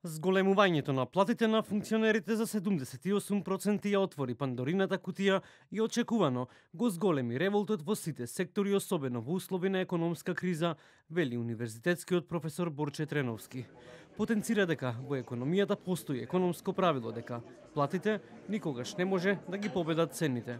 Зголемувањето на платите на функционерите за 78% ја отвори Пандорината кутија и очекувано го зголеми револтот во сите сектори, особено во услови на економска криза, вели универзитетскиот професор Борче Треновски. Потенцира дека во економијата постои економско правило дека платите никогаш не може да ги победат цените.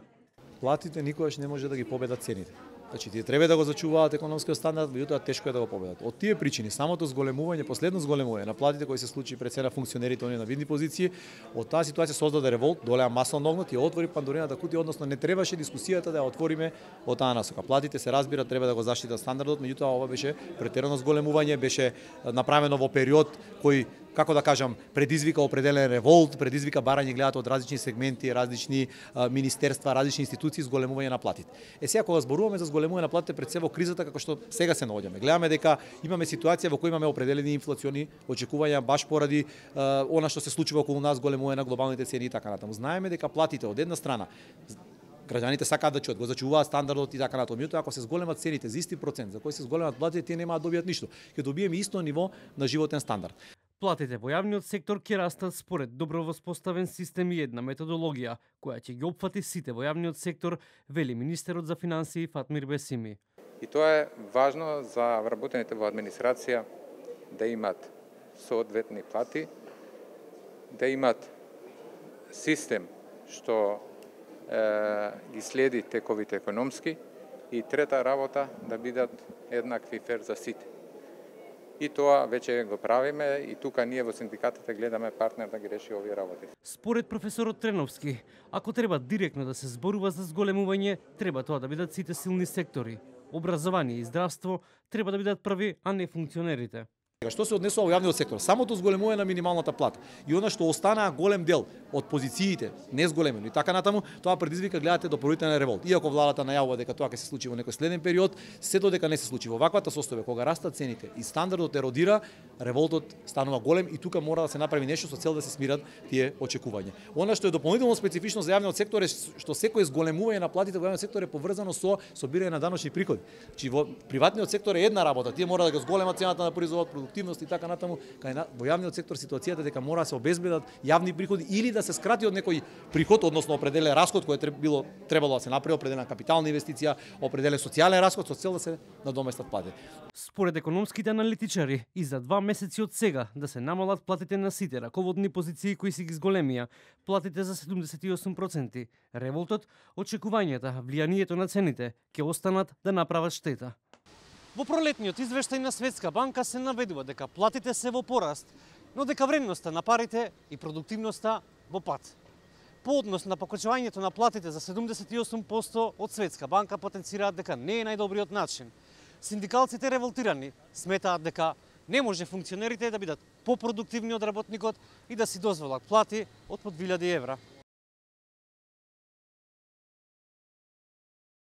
Платите никогаш не може да ги победат цените. Значи, тие треба да го зачуваат економскиот стандард, меѓутоа тешко е да го победат. Од тие причини, самото зголемување, последно зголемување на платите кои се случи пред се на функционерите оние на видни позиции, од таа ситуација создаде револт, долеа масен огнот и отвори Пандорината кутија, односно не требаше дискусијата да ја отвориме од таа насока. Платите се разбира, треба да го заштитат стандардот, меѓутоа ова беше претерано зголемување, беше направено во период кој, како да кажам, предизвика определен револт, предизвика барање гледат од различни сегменти, различни министерства, различни институции, зголемување на платите. Сега кога зборуваме за зголемување на платите пред се во кризата како што сега се наоѓаме, гледаме дека имаме ситуација во која имаме определени инфлациони очекувања баш поради она што се случува околу нас, зголемување на глобалните цени и така натаму. Знаеме дека платите од една страна граѓаните сакаат да чуат, го зачуваат стандардот и така натаму. Меѓутоа, ако се зголемат цените за исти процент за кој се зголемат платите, тие немаат да добијат ништо. Ќе добиеме исто ниво на животен стандард. Платите во јавниот сектор ќе растат според добро воспоставен систем и една методологија, која ќе ги опфати сите во јавниот сектор, вели министерот за финансии Фатмир Бесими. И тоа е важно за вработените во администрација да имат соодветни плати, да имат систем што ги следи тековите економски и трета работа да бидат еднакви фер за сите. И тоа веќе го правиме и тука ние во синдикатите гледаме партнер да ги реши овие работи. Според професорот Треновски, ако треба директно да се зборува за зголемување, треба тоа да бидат сите силни сектори. Образование и здравство треба да бидат први, а не функционерите. Што се однесува во јавниот сектор, самото зголемување на минималната плата и она што останаа голем дел од позициите не зголемено и така натаму, тоа предизвика гледате дополнителен револт. Иако владата најавува дека тоа ќе се случи во некој следен период, се додека не се случи во ваквата состојба, кога растат цените и стандардот еродира, револтот станува голем и тука мора да се направи нешто со цел да се смират тие очекувања. Она што е дополнително специфично за јавниот сектор е што секој зголемување на платите во јавниот сектор е поврзано со собирање на даночни приходи. Значи во приватниот сектор е една работа, тие мора да го зголемат цената на производот, продуктивност и така натаму, во јавниот сектор ситуацијата дека мора да се обезбедат јавни приходи или да се скрати од некој приход, односно определен расход кој требало да се направи, определена капитална инвестиција, определен социјален расход со цел да се надоместат плати. Според економските аналитичари, и за 2 месеци од сега да се намалат платите на сите раководни позиции кои си ги зголемија, платите за 78%, револтот, очекувањата, влијанието на цените ќе останат да направат штета. Во пролетниот извештај на Светска банка се наведува дека платите се во пораст, но дека вредноста на парите и продуктивноста во пад. По однос на покачувањето на платите за 78% од Светска банка потенцираат дека не е најдобриот начин. Синдикалците револтирани сметаат дека не може функционерите да бидат попродуктивни од работникот и да си дозволат плати од по 2000 евра.